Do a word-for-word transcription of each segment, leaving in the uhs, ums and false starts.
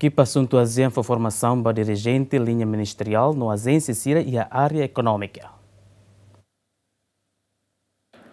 Ekipa Asuntu ASEAN fó formasaun ba dirijente liña ministeriál no ajénsia sira iha área ekonómika.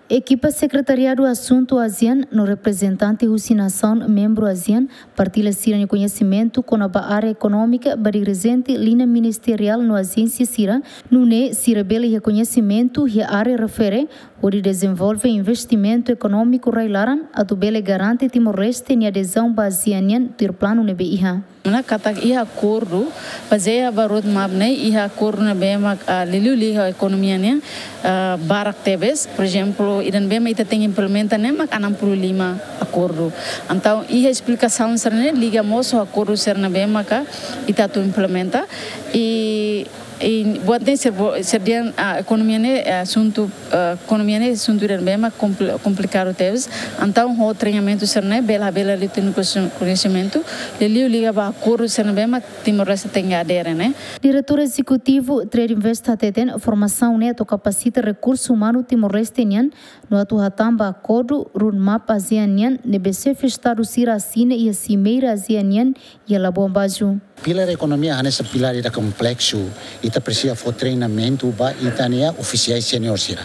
Ekipa Sekretariadu Asuntu ASEAN no reprezentante husi nasaun membru ASEAN partilla sira-nia koñesimentu kona-ba área ekonómika ba dirijente liña ministeriál no ajénsia sira, nune'e sira bele iha koñesimentu iha área refere hodi dezenvolve investimentu ekonómiku rai-laran atu bele garante Timor-Leste nia adezaun ba ASEAN nian tuir planu ne'ebé iha. Nune'e katak iha akordu, bazeia ba roadmap ne'e, iha akordu ne'ebé mak, ah, liuliu liga ekonomia nian, ah, barak tebes. Por ezemplu, ida ne'ebé mak ita tenke implementa ne'e mak enam puluh lima akordu. Entaun, iha esplikasaun sira-ne'e liga mós ho akordu sira ne'ebé maka ita atu implementa. I, i buat ne'e sira bo-, sira dehan, ah, ekonomia ne'e, ah, asuntu, ah, ekonomia ne'e asuntu ida ne'ebé mak kompli-, komplikadu tebes. Entaun, ho treinamentu sira-ne'e, bele, bele liutinu koñesimentu, liuliu liga ba akordu sira ne'ebé mak Timor-Leste tenke adere ne'e. Diretór Ezekutivu Trade Invest hateten, formasaun ne'e atu kapasita rekursu umanu Timor-Leste nian, no atu hatán ba akordu roadmap ASEAN nian ne'ebé xefe Estadu sira asina iha Simeira ASEAN nian iha Labuan Bajo. Pilár ekonomia hanesan pilár ida kompleksu, ita presiza fó treinamentu ba ita-nia ofisiais sénior sira.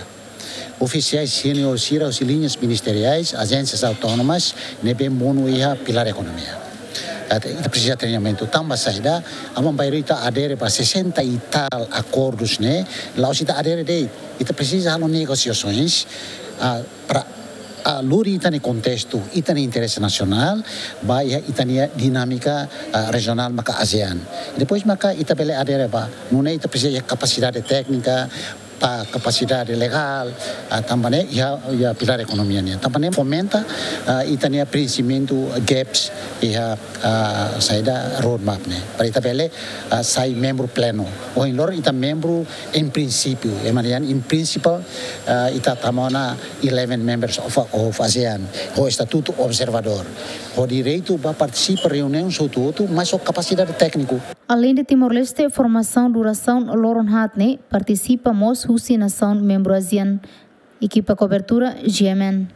Ofisiais sénior sira husi liñas ministeriais, ajénsias autónomas, ne'ebé monu iha pilár ekonomia. Ita, ita presiza treinamentu. Tanba saida, aban-bainrua ita adere ba sessenta e tal akordus ne'e, la'ós ita adere de'it. Ita presiza halo negosiasoens, ah, para, ah, lori ita-nia kontestu, ita-nia interese nasionál, ba iha ita-nia dinámika, ah, rejionál maka ASEAN. Depois maka ita bele adere ba, nune'e ita presiza iha kapasidade téknika, ba kapasidade legál, ah, tanba ne'e iha, iha pilár ekonomia nian. Tanba ne'e fomenta, ah, ita-nia prenximentu gaps iha, ah, saida roadmap ne'e. Para ita bele, ah, sai membru plenu. Ohin loron ita membru em princípio, ema dehan in principle, ah, ita tama ona eleven members of, of ASEAN, ho estatutu observadór, ho direitu ba partisipa reuniaun hotu-hotu, mas ho kapasidade tékniku. Aleinde Timor-Leste, formasaun durasaun loron haat ne'e partisipa mós husi nasaun membru ASEAN. Ekipa kobertura, G M N.